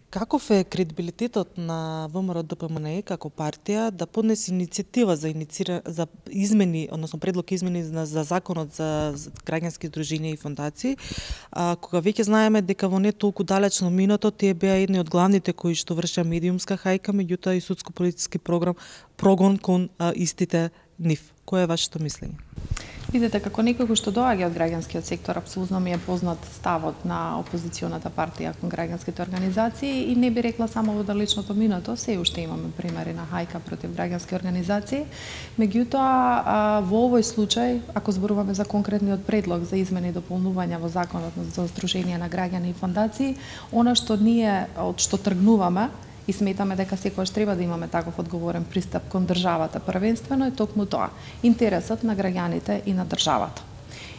Каков е кредибилитетот на ВМРО-ДПМНЕ како партија да поднесе иницијатива за измени, односно предлог измени за законот за граѓански здруженија и фондации, кога веќе знаеме дека во не толку далечно минато тие беа едни од главните кои што вршеа медиумска хајка, меѓутоа и судско-политички прогон кон истите нив. Кое е вашето мислење? Видете, како некој кој што доаѓа од граѓанскиот сектор, апсолутно ми е познат ставот на опозиционата партија кон граѓанските организации и не би рекла само во далечното минато, се уште имаме примери на хајка против граѓански организации. Меѓутоа, во овој случај, ако зборуваме за конкретниот предлог за измени и дополнувања во законот за здруженија на граѓани и фондации, она што ние од што тргнуваме и сметаме дека секогаш треба да имаме таков одговорен пристап кон државата, првенствено е токму тоа, интересот на граѓаните и на државата.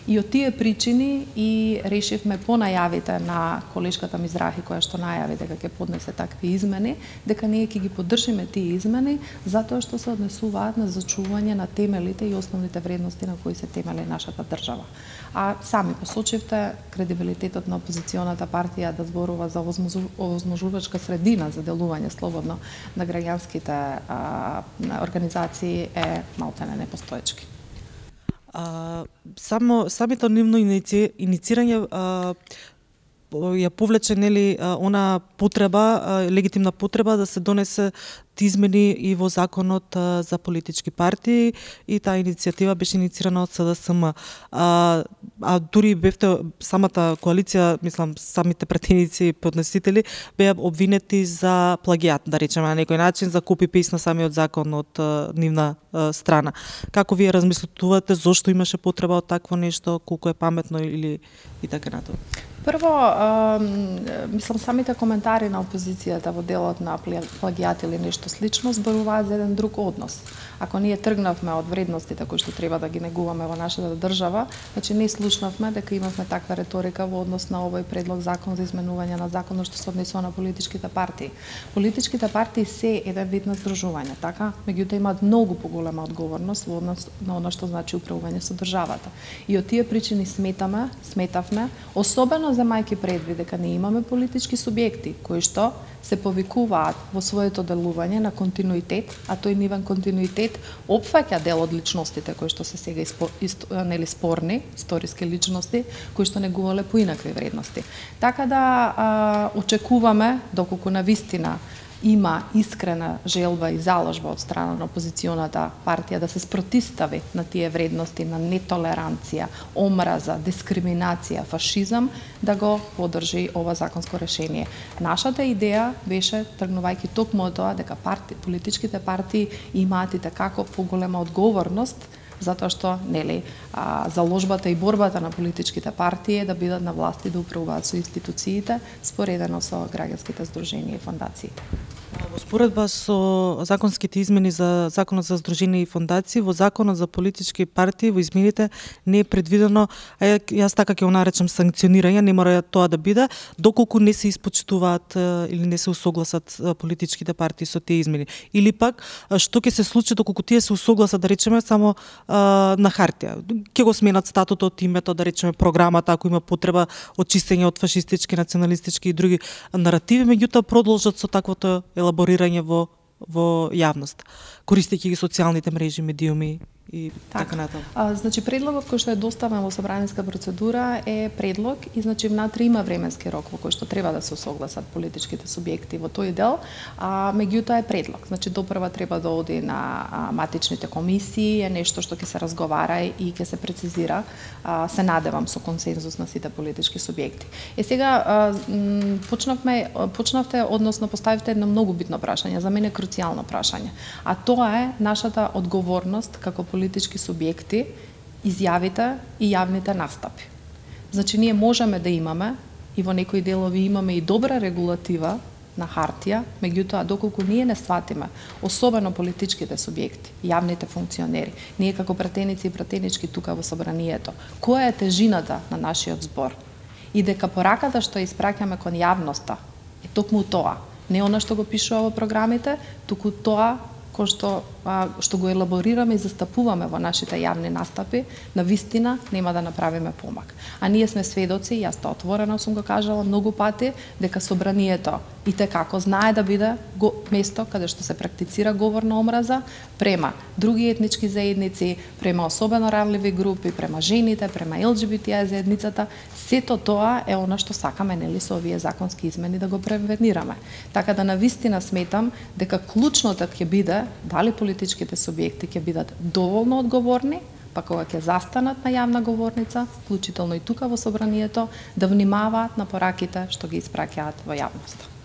И од тие причини и решивме по најавите на колешката Мизрахи, која што најави дека ќе поднесе такви измени, дека ние ќе ги поддржиме тие измени, затоа што се однесуваат на зачување на темелите и основните вредности на кои се темели нашата држава. А сами посочивте кредибилитетот на опозиционата партија да зборува за овозможувачка средина за делување слободно на граѓанските организации е малтене непостоечки. Самите нивно иницирање ја повлече она потреба, легитимна потреба да се донесе измени и во законот за политички партии и таа иницијатива беше иницирана од СДСМ. Дури бевте самата коалиција, мислам, самите пратеници и поднесители беа обвинети за плагиат, да речеме на некој начин, за копи-пейст на самиот закон од нивна страна. Како вие размислувате, зошто имаше потреба од такво нешто, колку е паметно или и така натаму? Прво, мислам, самите коментари на опозицијата во делот на плагиат или нешто слично зборуваат за еден друг однос. Ако ние тргнавме од вредностите кои што треба да ги негуваме во нашата држава, значи не слушнавме дека имавме таква реторика во однос на овој предлог закон за изменување на законот што се однесува на политичките партии. Политичките партии се еден вид на здружување, така? Меѓутоа имаат многу поголема одговорност во однос на она што значи управување со државата. И од тие причини сметавме, особено земајќи предвид дека не имаме политички субјекти кои што се повикуваат во своето делување на континуитет, а тој нивен континуитет опфаќа дел од личностите кои што се сега спорни, историски личности, кои што негувале поинакви вредности. Така да очекуваме, доколку навистина има искрена желба и заложба од страна на опозиционата партија да се спротистави на тие вредности на нетолеранција, омраза, дискриминација, фашизам, да го поддржи ова законско решение. Нашата идеја беше, тргнувајќи токму од тоа, дека политичките партии имаат и како поголема одговорност, затоа што заложбата и борбата на политичките партии е да бидат на власт и да управуваат со институциите, споредено со граѓанските здруженија и фондациите. Во споредба со законските измени за законот за здруженија и фондации, во законот за политички партии, во измените не е предвидено, јас така ќе го наречам санкционирање, не мора тоа да биде, доколку не се испочитуваат или не се усогласат политичките партии со тие измени. Или пак, што ќе се случи доколку тие се усогласат, да речеме, само на хартија. Ќе го сменат статутот, името, да речеме, програмата, ако има потреба од чистење од фашистички, националистички и други наративи, меѓутоа продолжат со таквото елаборирање во јавност, користејќи ги социјалните мрежи, медиуми и така натаму. Значи предлогот кој што е доставен во собраниска процедура е предлог и значи внатре има временски рок во кој што треба да се согласат политичките субјекти во тој дел, меѓутоа е предлог. Значи допрва треба да оди на матичните комисии, е нешто што ќе се разговара и ќе се прецизира, се надевам со консензус на сите политички субјекти. Сега почнавте, односно поставивте едно многу битно прашање, за мене круцијално прашање, а тоа е нашата одговорност како политички субјекти, изјавите и јавните настапи. Значи, ние можеме да имаме, и во некои делови имаме и добра регулатива на хартија, меѓутоа, доколку ние не сватиме, особено политичките субјекти, јавните функционери, ние како пратеници и пратенички тука во собранието, која е тежината на нашиот збор? И дека пораката што испраќаме кон јавноста е токму тоа, не она што го пишува во програмите, туку тоа кој што што го елаборираме и застапуваме во нашите јавни настапи, на вистина нема да направиме помак. А ние сме сведоци, јас тоа отворено сум го кажала многу пати, дека собранието и како знае да биде место каде што се практицира говор на омраза према други етнички заедници, према особено ранливи групи, према жените, према ЛГБТ заедницата. Сето тоа е она што сакаме, нели, со овие законски измени да го превенираме. Така да навистина сметам дека клучното ќе биде дали политичките субјекти ќе бидат доволно одговорни, па кога ќе застанат на јавна говорница, вклучително и тука во собранието, да внимаваат на пораките што ги испраќаат во јавноста.